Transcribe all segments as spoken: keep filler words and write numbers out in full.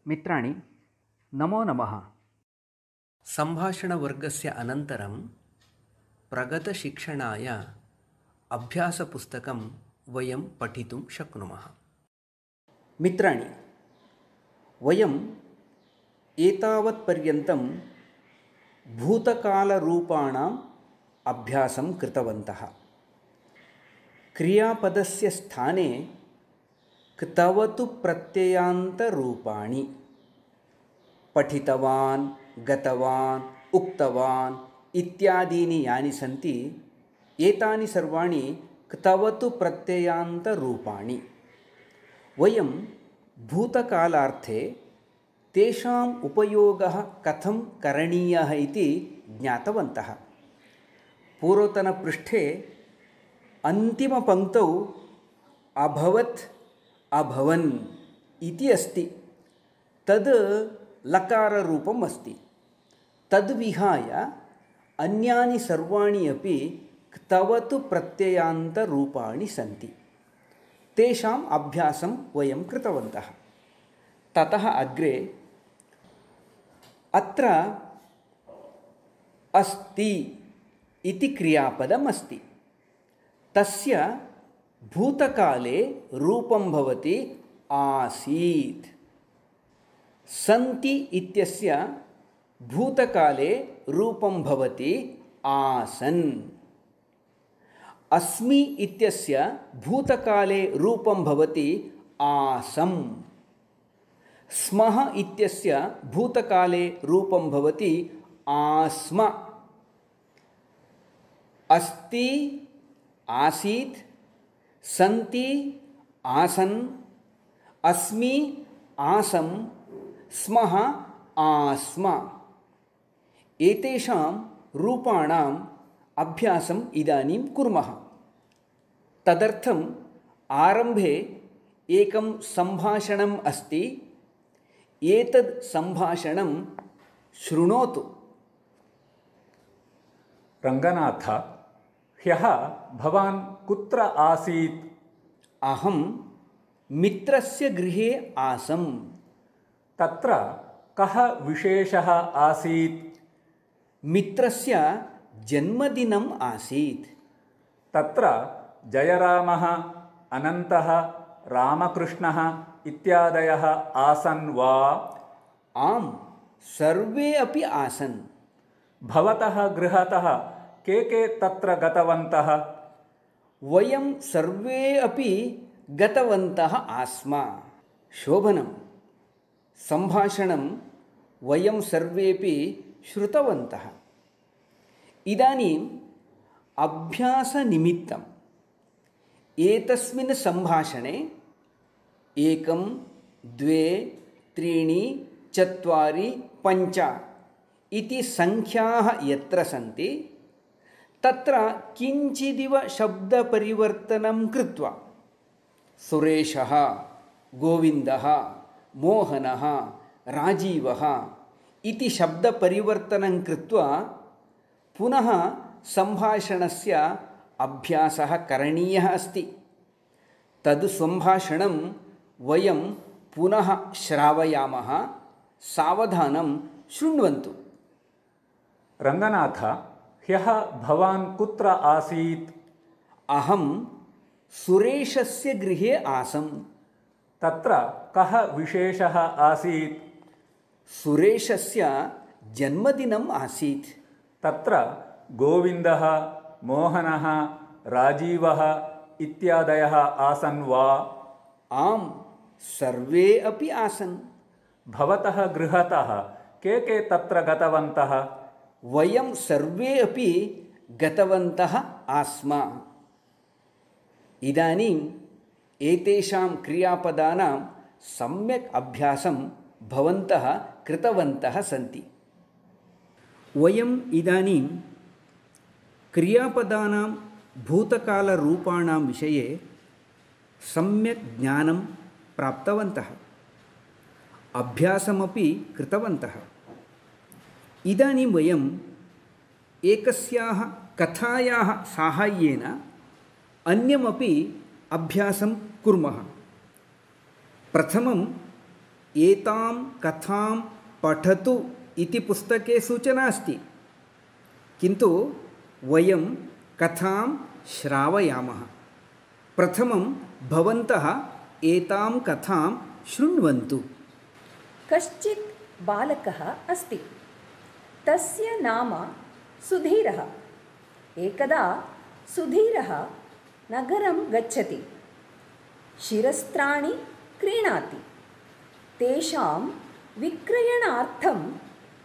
मित्राणि नमो नमः। सम्भाषणवर्गस्य अनन्तरं प्रगतशिक्षणाय अभ्यासपुस्तकं वयं पठितुं शक्नुमः। मित्राणि, वयम् एतावत्पर्यन्तं भूतकालरूपाणाम् अभ्यासं कृतवन्तः। क्रियापदस्य स्थाने क्तवतु प्रत्ययान्तरूपाणि पठितवान्, गतवान्, उक्तवान् इत्यादीनि यानि सन्ति, एतानि सर्वाणि क्तवतु प्रत्ययान्तरूपाणि। वयं भूतकालार्थे तेषाम् उपयोगः कथं करणीयः इति ज्ञातवन्तः। पूर्वतनपृष्ठे अन्तिमपङ्क्तौ अभवत्, अभवन् इति अस्ति। तद् लकाररूपम् अस्ति। तद्विहाय अन्यानि सर्वाणि अपि क्तवतु प्रत्ययान्तरूपाणि सन्ति। तेषाम् अभ्यासं वयं कृतवन्तः। ततः अग्रे अत्र अस्ति इति क्रियापदम् अस्ति। तस्य भूतकाले रूपं भवति आसीत्। सन्ति इत्यस्य भूतकाले रूपं भवति आसन्। अस्मि इत्यस्य भूतकाले रूपं भवति आसम्। स्मः इत्यस्य भूतकाले रूपं भवति आस्म। अस्ति, आसीत्, सन्ति, आसन्, अस्मि, आसम्, स्मः, आस्म। एतेषां रूपाणाम् अभ्यासम् इदानीं कुर्मः। तदर्थम् आरम्भे एकं सम्भाषणम् अस्ति। एतद् सम्भाषणं शृणोतु। रङ्गनाथ, ह्यः भवान् कुत्र आसीत्? अहं मित्रस्य गृहे आसम्। तत्र कः विशेषः आसीत्? मित्रस्य जन्मदिनम् आसीत्। तत्र जयरामः, अनन्तः, रामकृष्णः इत्यादयः आसन् वा? आम्, सर्वे अपि आसन्। भवतः गृहतः के के तत्र गतवन्तः? वयं सर्वे अपि गतवन्तः आस्म। शोभनं। सम्भाषणं वयं सर्वेपि श्रुतवन्तः। इदानीम् अभ्यासनिमित्तम् एतस्मिन् सम्भाषणे एकं, द्वे, त्रीणि, चत्वारि, पञ्च इति संख्याः यत्र सन्ति, तत्र किञ्चिदिव शब्दपरिवर्तनं कृत्वा सुरेशः, गोविन्दः, मोहनः, राजीवः इति शब्दपरिवर्तनं कृत्वा पुनः सम्भाषणस्य अभ्यासः करणीयः अस्ति। तद् सम्भाषणं वयं पुनः श्रावयामः। सावधानं शृण्वन्तु। रङ्गनाथ, ह्यः भवान् कुत्र आसीत्? अहं सुरेशस्य गृहे आसम्। तत्र कः विशेषः आसीत्? सुरेशस्य जन्मदिनम् आसीत्। तत्र गोविन्दः, मोहनः, राजीवः इत्यादयः आसन् वा? आम्, सर्वे अपि आसन्। भवतः गृहतः के के तत्र गतवन्तः? वयं सर्वे अपि गतवन्तः आस्म। इदानीम् एतेषां क्रियापदानां सम्यक् अभ्यासं भवन्तः कृतवन्तः सन्ति। वयम् इदानीं क्रियापदानां भूतकालरूपाणां विषये सम्यक् ज्ञानं प्राप्तवन्तः। अभ्यासमपि कृतवन्तः। इदानीं वयम् एकस्याः कथायाः साहाय्येन अन्यमपि अभ्यासं कुर्मः। प्रथमम् एतां कथां पठतु इति पुस्तके सूचना अस्ति, किन्तु वयं कथां श्रावयामः। प्रथमं भवन्तः एतां कथां शृण्वन्तु। कश्चित् बालकः अस्ति, तस्य नाम सुधीरः। एकदा सुधीरः नगरं गच्छति, शिरस्त्राणि क्रीणाति, तेषां विक्रयणार्थं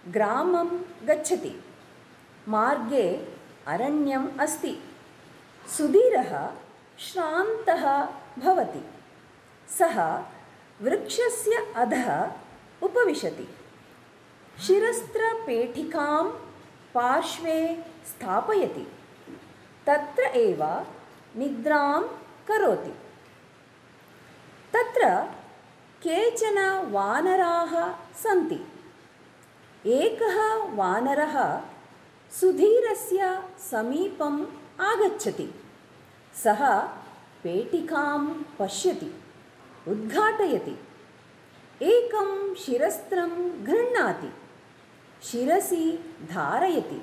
ग्रामं गच्छति। मार्गे अरण्यम् अस्ति। सुधीरः श्रान्तः भवति। सः वृक्षस्य अधः उपविशति, शिरस्त्रपेटिकां पार्श्वे स्थापयति, तत्र एव निद्रां करोति। तत्र केचन वानराः सन्ति। एकः वानरः सुधीरस्य समीपम् आगच्छति। सः पेटिकां पश्यति, उद्घाटयति, एकं शिरस्त्रं गृह्णाति, शिरसि धारयति,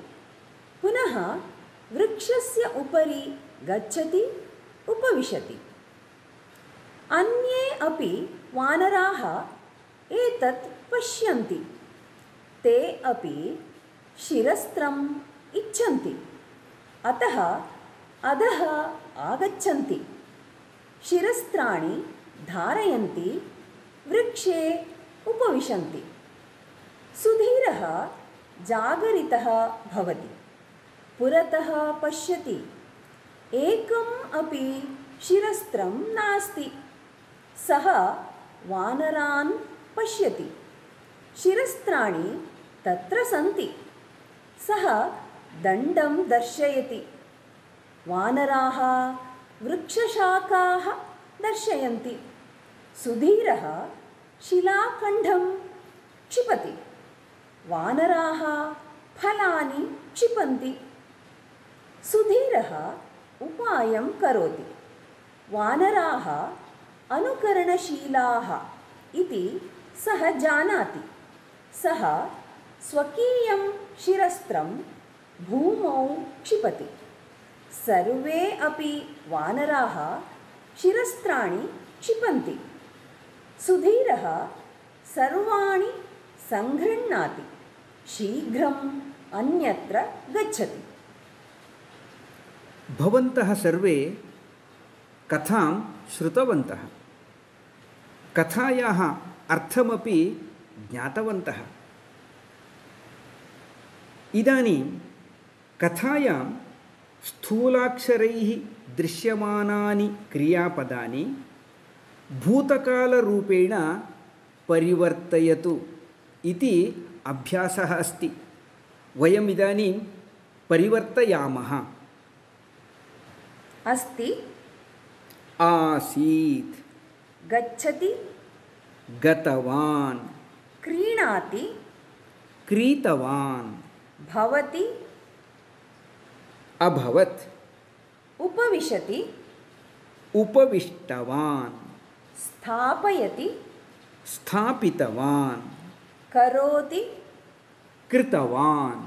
पुनः वृक्षस्य उपरि गच्छति, उपविशति। अन्ये अपि वानराः एतत् पश्यन्ति। ते अपि शिरस्त्रम् इच्छन्ति, अतः अधः आगच्छन्ति, शिरस्त्राणि धारयन्ति, वृक्षे उपविशन्ति। सुधीरः जागरितः भवति, पुरतः पश्यति, एकम् अपि शिरस्त्रं नास्ति। सः वानरान् पश्यति, शिरस्त्राणि तत्र सन्ति। सः दण्डं दर्शयति, वानराः वृक्षशाखाः दर्शयन्ति। सुधीरः शिलाखण्डं क्षिपति, वानराः फलानि क्षिपन्ति। सुधीरः उपायं करोति, वानराः अनुकरणशीलाः इति सः जानाति। सः स्वकीयं शिरस्त्रं भूमौ क्षिपति। सर्वे अपि वानराः शिरस्त्राणि क्षिपन्ति। सुधीरः सर्वाणि सङ्गृह्णाति, शीघ्रम् अन्यत्र गच्छति। भवन्तः सर्वे कथां श्रुतवन्तः, कथायाः अर्थमपि ज्ञातवन्तः। इदानीं कथायां स्थूलाक्षरैः दृश्यमानानि क्रियापदानि भूतकालरूपेण परिवर्तयतु इति अभ्यासः अस्ति। वयम् इदानीं परिवर्तयामः। अस्ति, आसीत्, गच्छति, गतवान्, क्रीणाति, क्रीतवान्, भवति, अभवत्, उपविशति, उपविष्टवान्, स्थापयति, स्थापितवान्, करोति, कृतवान्,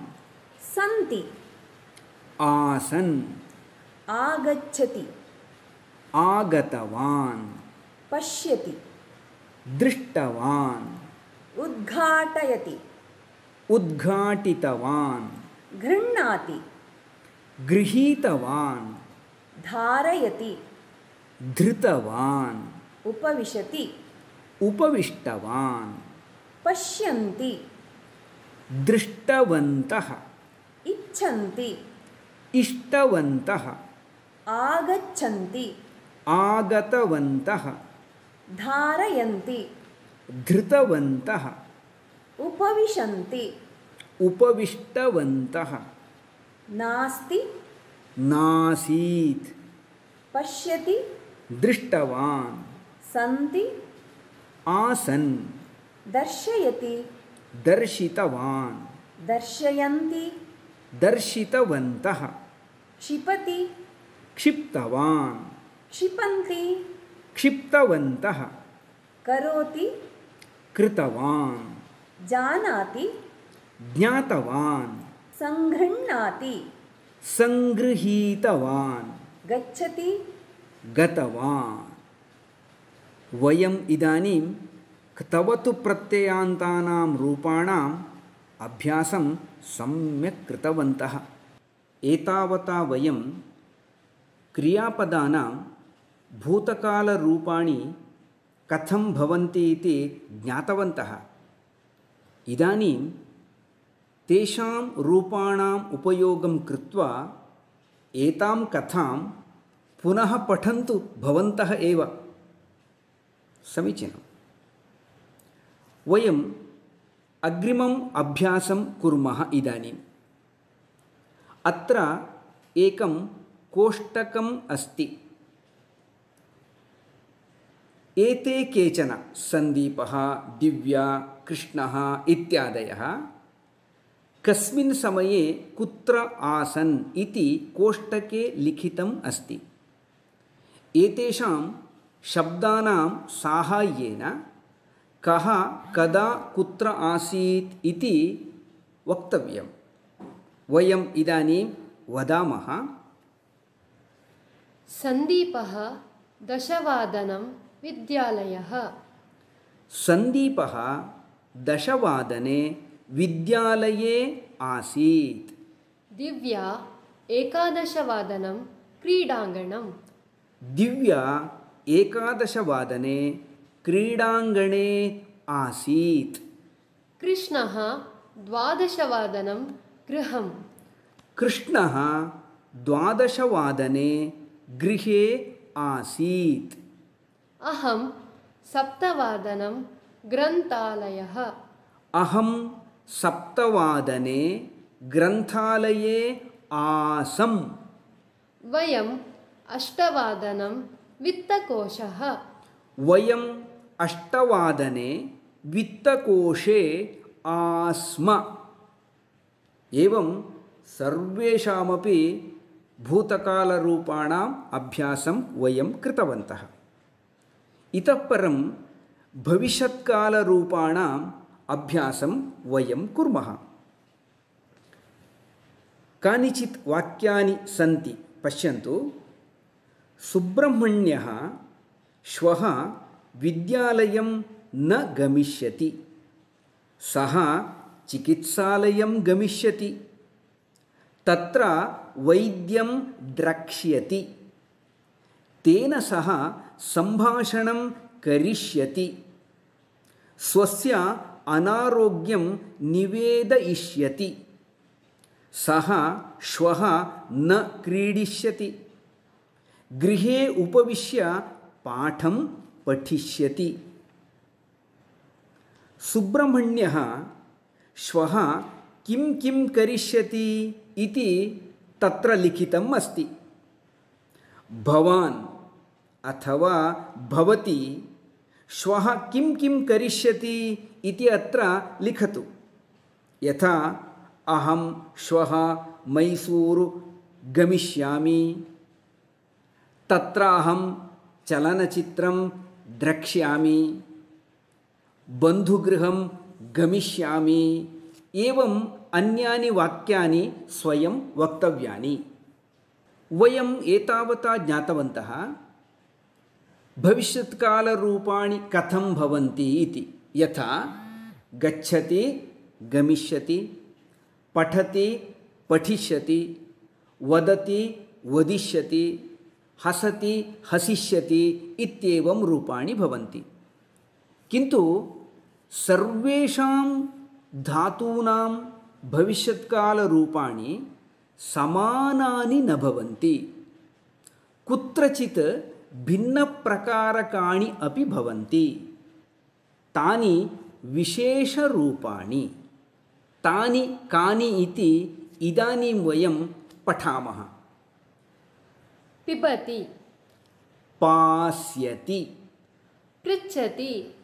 सन्ति, आसन्, आगच्छति, आगतवान्, पश्यति, दृष्टवान्, उद्घाटयति, उद्घाटितवान्, गृह्णाति, गृहीतवान्, धारयति, धृतवान्, उपविशति, उपविष्टवान्, पश्यन्ति, दृष्टवन्तः, इच्छन्ति, इष्टवन्तः, आगच्छन्ति, आगतवन्तः, धारयन्ति, धृतवन्तः, उपविशन्ति, उपविष्टवन्तः, नास्ति, नासीत्, पश्यति, दृष्टवान्, सन्ति, आसन्, दर्शयति, दर्शितवान्, दर्शयन्ति, दर्शितवन्तः, क्षिपति, क्षिप्तवान्, क्षिपन्ति, क्षिप्तवन्तः, करोति, कृतवान् जानाति ज्ञातवान् सङ्गृह्णाति सङ्गृहीतवान् गच्छति गतवान्। वयम् इदानीं क्तवतु प्रत्ययान्तानां रूपाणाम् अभ्यासं सम्यक् कृतवन्तः। एतावता वयं क्रियापदानां भूतकालरूपाणि कथं भवन्ति इति ज्ञातवन्तः। इदानीं तेषां रूपाणाम् उपयोगं कृत्वा एतां कथां पुनः पठन्तु भवन्तः एव। समीचीनं। वयम् अग्रिमम् अभ्यासं कुर्मः इदानीम्। अत्र एकं कोष्टकम् अस्ति। एते केचन सन्दीपः, दिव्या, कृष्णः इत्यादयः कस्मिन् समये कुत्र आसन् इति कोष्टके लिखितम् अस्ति। एतेषां शब्दानां साहाय्येन कः कदा कुत्र आसीत् इति वक्तव्यम्। वयम् इदानीं वदामः। सन्दीपः दशवादनं विद्यालयः। सन्दीपः दशवादने विद्यालये आसीत्। दिव्या एकादशवादनं क्रीडाङ्गणं। दिव्या एकादशवादने क्रीडाङ्गणे आसीत्। कृष्णः द्वादशवादनं गृहम्। कृष्णः द्वादशवादने गृहे आसीत्। अहं सप्तवादनं ग्रन्थालयः। अहं सप्तवादने ग्रन्थालये आसम्। वयम् अष्टवादनं वित्तकोशः। वयम् अष्टवादने वित्तकोशे आस्म। एवं सर्वेषामपि भूतकालरूपाणाम् अभ्यासं वयं कृतवन्तः। इतः परं भविष्यत्कालरूपाणाम् अभ्यासं वयं कुर्मः। कानिचित् वाक्यानि सन्ति, पश्यन्तु। सुब्रह्मण्यः श्वः विद्यालयं न गमिष्यति। सः चिकित्सालयं गमिष्यति। तत्र वैद्यं द्रक्ष्यति। तेन सह सम्भाषणं करिष्यति। स्वस्य अनारोग्यं निवेदयिष्यति। सः श्वः न क्रीडिष्यति। गृहे उपविश्य पाठं पठिष्यति। सुब्रह्मण्यः श्वः किं किं करिष्यति इति तत्र लिखितम् अस्ति। भवान् अथवा भवती श्वः किं किं करिष्यति इति अत्र लिखतु। यथा अहं श्वः मैसूरु गमिष्यामि। तत्र अहं चलनचित्रं द्रक्ष्यामि। बन्धुगृहं गमिष्यामि। एवम् अन्यानि वाक्यानि स्वयं वक्तव्यानि। वयम् एतावता ज्ञातवन्तः भविष्यत्कालरूपाणि कथं भवन्ति इति। यथा गच्छति गमिष्यति, पठति पठिष्यति, वदति वदिष्यति, हसति हसिष्यति इत्येवं रूपाणि भवन्ति। किन्तु सर्वेषां धातूनां भविष्यत्कालरूपाणि समानानि न भवन्ति। कुत्रचित् भिन्नप्रकारकाणि अपि भवन्ति। तानि विशेषरूपाणि। तानि कानि इति इदानीं वयं पठामः। पिबति। पास्यति। पृच्छति।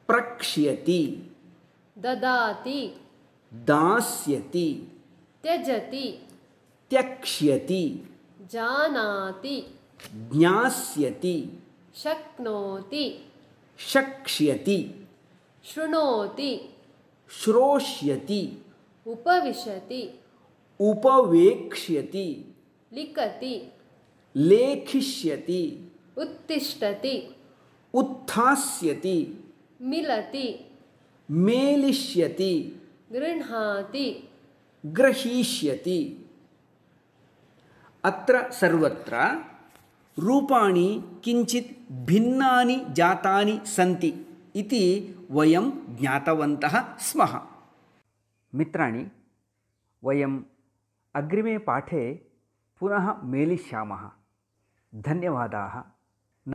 प्रक्ष्यति। ददाति। दास्यति। त्यजति। त्यक्ष्यति। जानाति। ज्ञास्यति। शक्नोति। शक्ष्यति। शृणोति श्रोष्यति उपविशति उपवेक्ष्यति लिखति लेखिष्यति उत्तिष्ठति उत्थास्यति मिलति मेलिष्यति गृह्णाति ग्रहीष्यति। अत्र सर्वत्र रूपाणि किञ्चित् भिन्नानि जातानि सन्ति इति वयं ज्ञातवन्तः स्मः। मित्राणि, वयम् अग्रिमे पाठे पुनः मेलिष्यामः। धन्यवादाः।